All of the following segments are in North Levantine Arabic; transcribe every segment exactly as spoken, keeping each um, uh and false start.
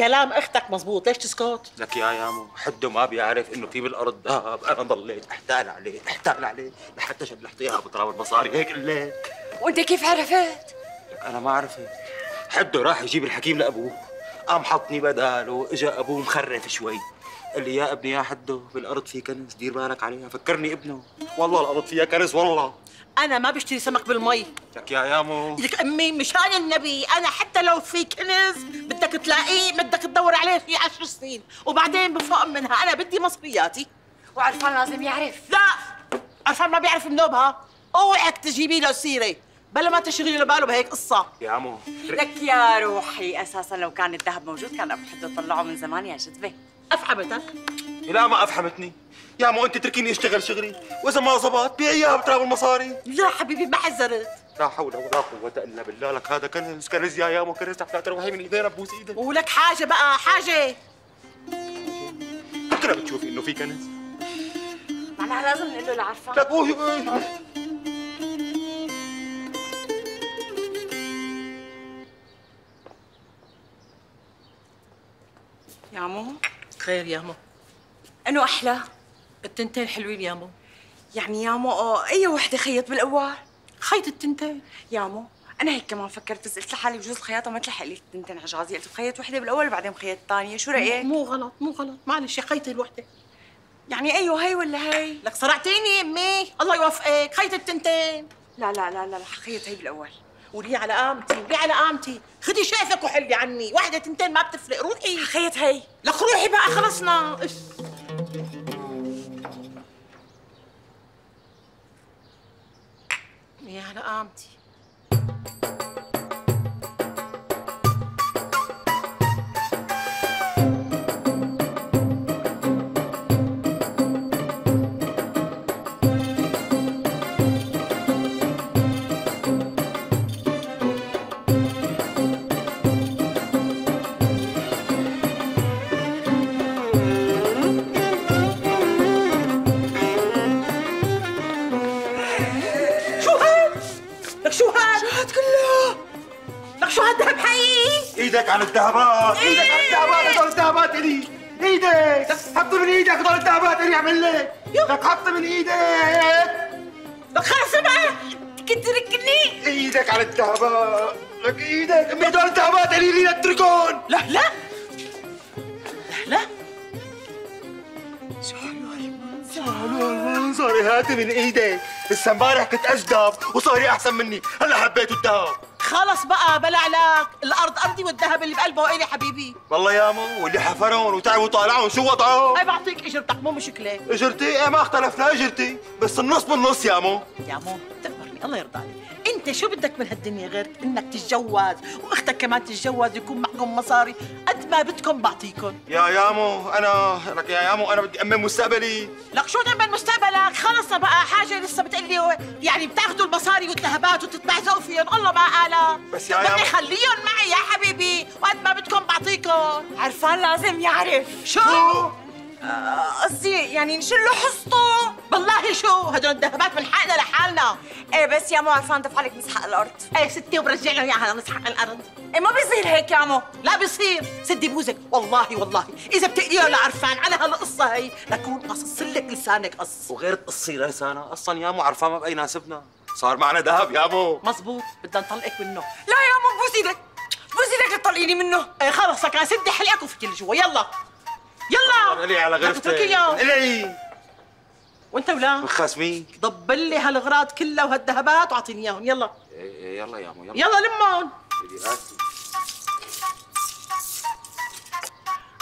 كلام اختك مزبوط، ليش تسكت؟ لك يا يامو حده ما بيعرف انه في بالارض ذهب، انا ضليت احتال عليه احتال عليه لحتى شلحت اياها بتراب المصاري هيك الليل. وانت كيف عرفت؟ لك انا ما عرفت، حده راح يجيب الحكيم لابوه، قام حطني بداله، اجى ابوه مخرف شوي، قال لي يا ابني يا حده بالارض في كنز دير بالك عليها، فكرني ابنه، والله الارض فيها كنز والله. انا ما بشتري سمك بالمي. لك يا يامو لك امي مشان النبي انا حتى لو في كنز بدك تلاقيه بدك تدور عليه في عشر سنين وبعدين بفوق منها، انا بدي مصرياتي. وعرفان لازم يعرف. لا عرفان ما بيعرف منوبها، اوعك تجيبي له سيره بلا ما تشغلي له باله بهيك قصه. يا عمو لك يا روحي اساسا لو كان الذهب موجود كان ابو حده طلعه من زمان يا جذبه. افحمتك؟ لا ما افحمتني يا عمو، انت تركيني اشتغل شغلي واذا ما زبط بيعيها بتراب المصاري. لا حبيبي ما حذرت. لا حول ولا قوة الا بالله، لك هذا كنز كنز يا يامو كنز، لا تروحي من ايدينا ببوس ايدك. ولك حاجه بقى حاجه بكره بتشوفي انه في كنز. معناها لازم نقول له لعرفان. لك اوه يا مو خير يا مو؟ انه احلى التنتين حلوين يا مو. يعني يا مو اي وحده خيط بالاول؟ خيط التنتين يا مو انا هيك كمان فكرت، بس قلت لحالي بجوز الخياطه ما تلحق لي التنتين على جوازي، قلت بخيط وحده بالاول وبعدين بخيط الثانيه، شو رايك؟ مو غلط مو غلط، معلش يا خيطي الوحده. يعني ايوه هي ولا هي؟ لك صرعتيني يا امي، الله يوفقك، خيط التنتين. لا لا لا لا خيط هي بالاول. ولي على قامتي ولي على قامتي، خدي شقفك وحلي عني، وحده تنتين ما بتفرق، روحي. خيط هي. لك روحي بقى خلصنا. يا على قامتي. ايدك على الذهبات، ايدك على الذهبات، هدول الذهبات الي، ايدك حط من ايدك هدول الذهبات الي، اعمل لك لك حط من ايدك. لك خلص بقى كنت تركني. ايدك على الذهبات، لك ايدك امي هدول الذهبات الي لي اتركون. لا لا لا لا شو هالمنظر، شو هالمنظر، هاتي من ايدك، لسه امبارح كنت اجدب وصاري احسن مني، هلا حبيت الذهب. خلص بقى بلا علاك، الارض ارضي والذهب اللي بقلبه الي حبيبي. والله يا مو واللي حفرون وتعبوا طالعون شو وضعهم؟ اي بعطيك اجرتك مو مشكله. اجرتي؟ ايه ما اختلفنا اجرتي، بس النص بالنص يا مو. يا مو تقبرني الله يرضى عليك، انت شو بدك من هالدنيا غير انك تتجوز واختك كمان تتجوز يكون معكم مصاري، قد ما بدكم بعطيكم. يا يامو انا لك يا يامو انا بدي امن مستقبلي. لك شو تأمن مستقبلك؟ خلص بقى حاجه لسه بتقلي يعني بتاخذوا المصاري والذهبات وتتبعزقوا فيهم، الله ما قالك. بس يا يامو خليهم معي يا حبيبي وقد ما بدكم بعطيكم. عرفان لازم يعرف. شو؟ قصدي آه يعني نشيل له حصته. والله شو هدول الذهبات من حقنا لحالنا. ايه بس يا مو عرفان دفع لك مسحق الارض. ايه ستي وبرجع له اياها مسحق الارض. ايه ما بيصير هيك يا مو. لا بيصير، سدي بوزك والله والله اذا بتقليه لعرفان على هالقصه هي لكون قصص لك لسانك قص. وغير تقصي لسانها اصلا يا مو عرفان ما بقى يناسبنا، صار معنا ذهب يا مو. مزبوط بدنا نطلقك منه. لا يا مو بوس ايدك بوس ايدك تطلقيني منه. ايه خلص لك سدي حلقك وفكي لجوا يلا يلا. الي على غرفتك الي وانت ولا مخاصمين. ضب لي هالغراض كلها وهالذهبات واعطيني اياهم يلا. ايه يلا يا مو يلا يلا لمون.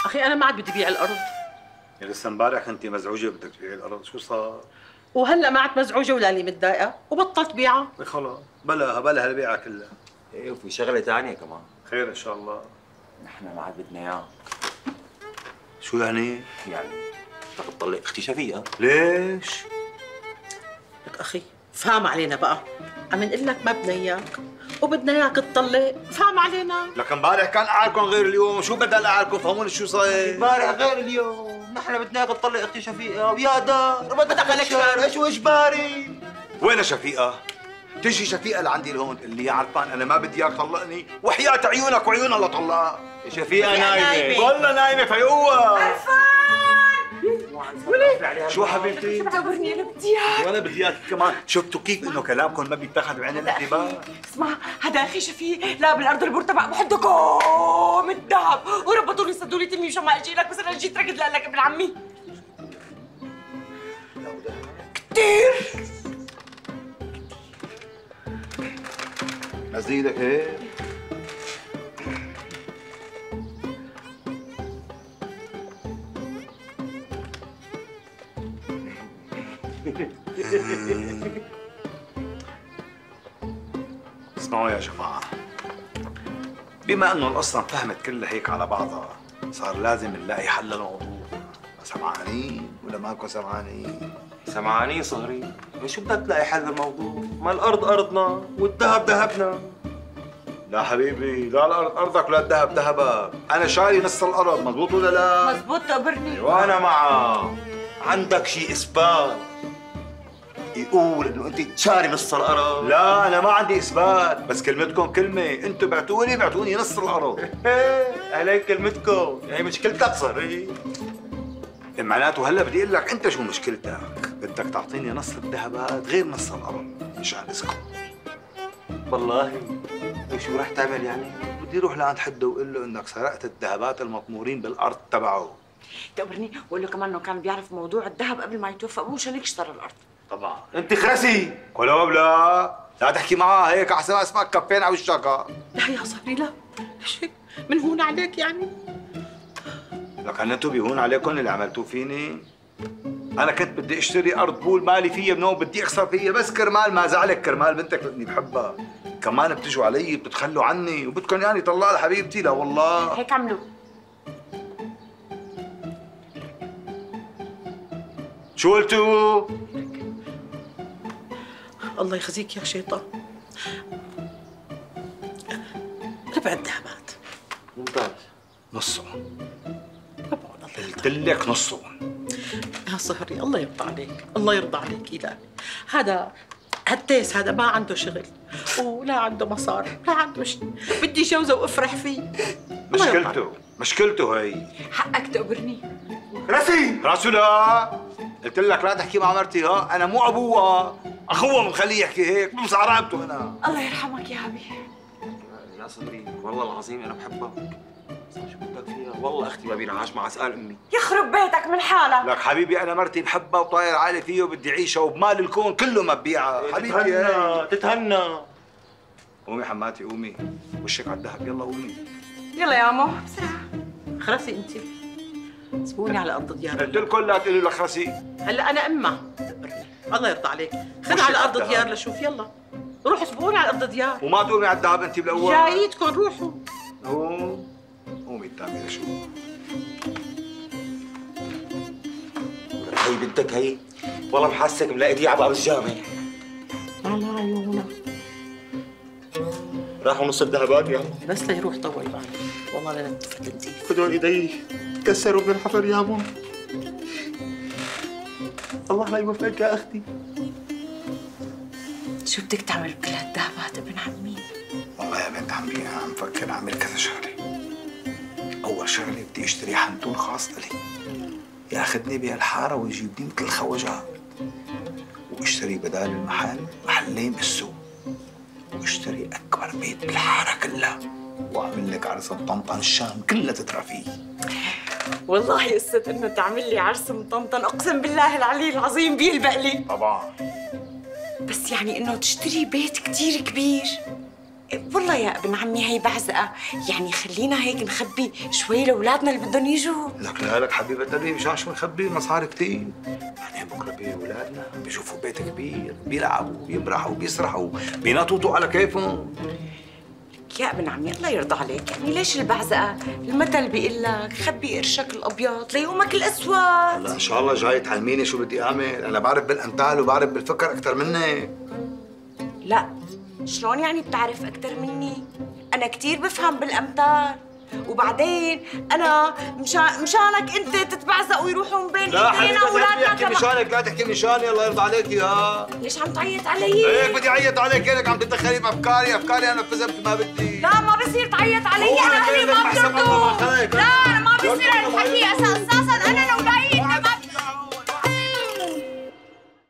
اخي انا ما عاد بدي بيع الارض. لسه امبارح كنتِ مزعوجه بدك تبيعي الارض، شو صار؟ وهلا ما عاد مزعوجه ولا لي متضايقه وبطلت بيعها. خلص بلاها بلاها البيعه كلها. ايه وفي شغله ثانيه كمان. خير ان شاء الله. نحن ما عاد بدنا اياه. شو يعني؟ يعني بدك تطلق اختي شفيقه. ليش؟ لك اخي فهم علينا بقى، عم نقول لك ما بدنا اياك وبدنا اياك تطلق، فهم علينا. لك امبارح كان قعدكم غير اليوم، شو بدل قعدكم فهموني شو صاير؟ امبارح غير اليوم، نحن بدنا اياك تطلق اختي شفيقه ويا دار بدك لك شهر شو اجباري؟ وين شفيقه؟ تجي شفيقه لعندي لهون تقول لي يا عرفان انا ما بدي اياك تطلقني وحياة عيونك وعيونها لطلقها. شفيقة نايمة والله نايمة فيقوها. شو حبيبتي؟ دورني انا بدي اياك. وانا بدي اياك كمان. شفتوا كيف انه كلامكم ما بيتاخذ بعين الاعتبار؟ اسمع، هذا اخي شفيق لا بالارض المرتفع بحدكم من الذهب، وربطوا لي صدوا لي تمي مشان ما اجي لك، بس انا جيت ركض لك ابن عمي. كثير نزلي ايدك هيك. اسمعوا يا جماعة، بما انه القصة انفهمت كلها هيك على بعضها، صار لازم نلاقي حل للموضوع. سمعانين ولا ماكو سمعانين؟ سمعانين صهري؟ شو بدك تلاقي حل للموضوع؟ ما الارض ارضنا والذهب ذهبنا. لا حبيبي، لا الارض ارضك ولا الذهب ذهبك، انا شاري نص الارض، مزبوط ولا لا؟ مزبوط تقبرني. وانا معه. عندك شيء اثبات يقول انه انت شاري نص الارض؟ لا انا ما عندي اثبات، بس كلمتكم كلمه، انتم بعتوني بعتوني نص الارض. عليك كلمتكم، هي مشكلتك صهري. معناته هلا بدي اقول لك انت شو مشكلتك، بدك تعطيني نص الذهبات غير نص الارض مشان اسكت. والله وشو رح تعمل يعني؟ بدي اروح لعند حده واقول له انك سرقت الذهبات المطمورين بالارض تبعه. تقبرني وقول له كمان انه كان بيعرف موضوع الذهب قبل ما يتوفى ابوه مشان هيك اشترى الارض. طبعا. انت خرسي. كلوب لا لا تحكي معاه هيك احسن ما اسمعك كفين على وشك. لا يا صهري لا، ليش هيك؟ من هون عليك يعني؟ لك انتم بيهون عليكم اللي عملتوه فيني؟ انا كنت بدي اشتري ارض بول مالي فيها بنوم، بدي اخسر فيها بس كرمال ما زعلك، كرمال بنتك اللي بحبها. كمان بتجوا علي بتتخلوا عني وبدكم يعني طلع لحبيبتي. لا والله هيك عملوا. شو قلتوا؟ الله يخزيك يا شيطان. ربع الذهبات. ممتاز. نصهم. ربعهم الله قلت لك نصهم. يا صهري الله يرضى عليك، الله يرضى عليك إلهي. هذا هالتيس هذا ما عنده شغل ولا عنده مصاري ولا عنده شيء، بدي جوزه وافرح فيه. مشكلته مشكلته هي. حقك تقبرني. راسي راسه لا، قلت لك لا تحكي مع مرتي. ها انا مو ابوها، اخوها مخليه يحكي هيك، بمسع رقبته انا. الله يرحمك يا ابي. يا صدري والله العظيم انا بحبك، بس شو بدك فيها؟ والله اختي ما بينعاش مع اسال امي. يخرب بيتك من حالك. لك حبيبي انا مرتي بحبها وطاير عالي فيه وبدي اعيشها وبمال الكون كله ما ببيعها. حبيبتي تتهنى تتهنى. قومي حماتي قومي، وشك على الذهب، يلا قومي. يلا يا عمو بسرعه. خرسي انت سبوني على ارض ديار. قلت لكم لا تقولوا لك خرسي. هلا انا امها الله يرضى عليك، خذ على ارض ديار لشوف. يلا روحوا سبقوني على ارض ديار. وما تقومي على الذهب انت بالاول. جايتكم روحوا. قوم قومي قدامي لشوف. هي بنتك هي والله محسك ملاقي دي على باب الجامع. على عيونك. راحوا نص الذهبات يا بس ليروح طول بالك، والله لا نتفت نزيف. خذوا ايدي تكسروا من الحفر يا ماما. الله لا يوفقك يا اختي. شو بدك تعمل بكل هالذهبات ابن عمي؟ والله يا بنت عمي انا عم فكر اعمل كذا شغله. اول شغله بدي اشتري حنطور خاص لي ياخذني بهالحاره ويجيبني مثل الخواجات، واشتري بدال المحل محلين بالسوق، واشتري اكبر بيت بالحاره كلها، واعمل لك عرس بطنطن الشام كلها تترى فيه. والله قصة انه تعمل لي عرس مطنطن اقسم بالله العلي العظيم بيلبق لي. طبعا. بس يعني انه تشتري بيت كتير كبير، والله يا ابن عمي هي بعزقه، يعني خلينا هيك نخبي شوي لاولادنا اللي بدهم يجوا. لك لا لك حبيبه قلبي مشان شو نخبي مصاري كثير، يعني بكره بيجوا اولادنا بيشوفوا بيت كبير، بيلعبوا بيمرحوا بيسرحوا بينططوا على كيفهم. يا ابن عمي الله يرضى عليك، يعني ليش البعزقه؟ المثل بيقول لك خبي قرشك الابيض ليومك الاسود. هلا ان شاء الله جاي تعلميني شو بدي اعمل، انا بعرف بالامثال وبعرف بالفكر اكثر منك. لا شلون يعني بتعرف اكثر مني؟ انا كثير بفهم بالامثال، وبعدين انا مشان مشانك انت تتبعزق ويروحوا من بين لا ايدينا حبيبتي لا واولادنا تحكي كمان. مشانك، لا تحكي مشاني، الله يرضى عليك يا. ليش عم تعيط علي؟ هيك بدي اعيط عليك، كانك عم تتدخلي بافكاري، افكاري انا نفذها مثل ما بدي. لا ما بصير تعيط علي، انا اهلي ما بيرضوا. لا ما بصير هالحكي يا سقساق.